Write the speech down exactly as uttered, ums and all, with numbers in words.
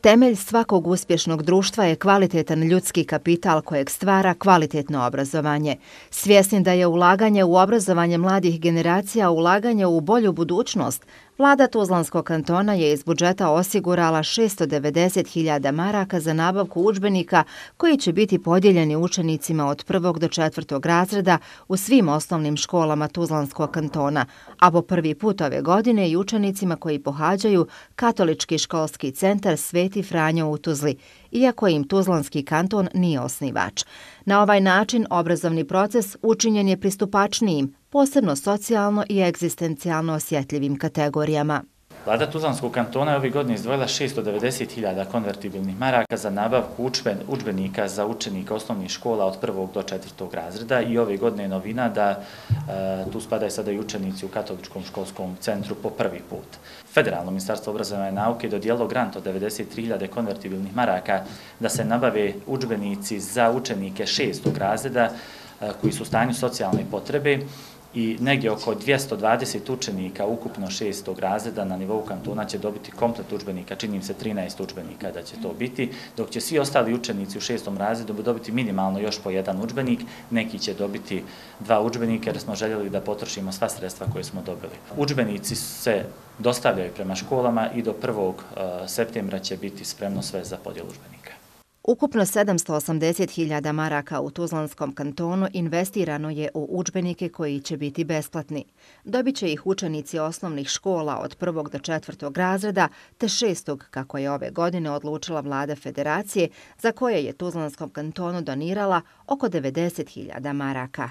Temelj svakog uspješnog društva je kvalitetan ljudski kapital kojeg stvara kvalitetno obrazovanje. Svjesni da je ulaganje u obrazovanje mladih generacija ulaganje u bolju budućnost, Vlada Tuzlanskog kantona je iz budžeta osigurala šesto devedeset hiljada maraka za nabavku udžbenika koji će biti podijeljeni učenicima od prvog do četvrtog razreda u svim osnovnim školama Tuzlanskog kantona, a po prvi put ove godine i učenicima koji pohađaju Katolički školski centar Sveti Franjo u Tuzli, iako im Tuzlanski kanton nije osnivač. Na ovaj način obrazovni proces učinjen je pristupačnijim, posebno socijalno i egzistencijalno osjetljivim kategorijama. Vlada Tuzlanskog kantona je ove godine izdvojila šesto devedeset hiljada konvertibilnih maraka za nabavku udžbenika za učenike osnovnih škola od prvog do četvrtog razreda i ove godine je novina da e, tu spadaju sada i učenici u Katoličkom školskom centru po prvi put. Federalno ministarstvo obrazovanja i nauke dodijelilo grant od devedeset tri hiljade konvertibilnih maraka da se nabave udžbenici za učenike šestog razreda e, koji su u stanju socijalne potrebe i negdje oko dvjesto dvadeset učenika ukupno šestog razreda na nivou kantona će dobiti komplet udžbenika, čini im se trinaest udžbenika da će to biti, dok će svi ostali učenici u šestom razredu dobiti minimalno još po jedan udžbenik, neki će dobiti dva udžbenika jer smo željeli da potrošimo sva sredstva koje smo dobili. Udžbenici se dostavljaju prema školama i do prvog septembra će biti spremno sve za podjelu udžbenika. Ukupno sedamsto osamdeset hiljada maraka u Tuzlanskom kantonu investirano je u udžbenike koji će biti besplatni. Dobit će ih učenici osnovnih škola od prvog do četvrtog razreda, te šestog, kako je ove godine odlučila Vlada Federacije, za koje je Tuzlanskom kantonu donirala oko devedeset hiljada maraka.